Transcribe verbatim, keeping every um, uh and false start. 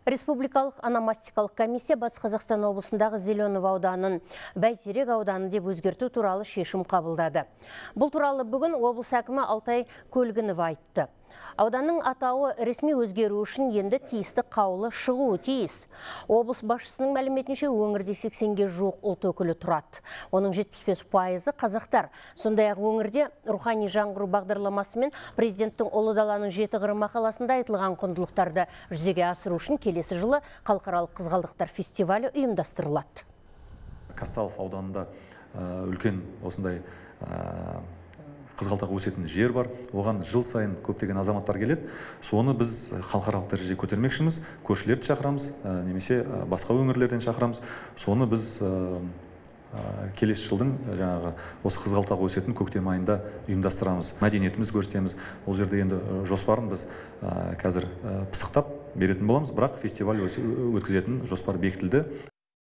Республикалық ономастикалық комиссия Батыс Қазақстан облысындағы Зеленов ауданын Бәйтерек ауданы деп өзгерту туралы шешім қабылдады. Бұл туралы бүгін облыс әкімі Алтай Көлгінов айтты. Ауданның атауы ресми өзгеру үшін енді тиісті қаулы шығуы тиіс. Облыс басшысының мәліметінше өңірде сексенге жуық ұлт өкілі тұрады. Оның жетпіс бес пайызы қазақтар. Сондай-ақ өңірде рухани жаңғыру бағдарламасымен президенттің Ұлы даланың жеті қыры мақаласында айтылған құндылықтарды жүзеге асыру үшін келесі жылы халықаралық қызғалдақтар фестивалі ұйымдастырылады. Казталов ауданында үлкен осындай қызғалдақ өсетін жер бар. Оған жыл сайын көптеген азаматтар келеді. Соны біз халықаралық дәрежеге көтермекшіміз. Көршілерді шақырамыз, немесе басқа өңірлерден шақырамыз. Соны біз келесі жылдың жаңағы осы қызғалдақ өсетін көктем айында ұйымдастырамыз. Мәдениетіміз көрсетеміз. Ол жерде енді жоспарын біз қазір пысықтап беретін боламыз, бірақ фестиваль өткізетін жоспар бекітілді.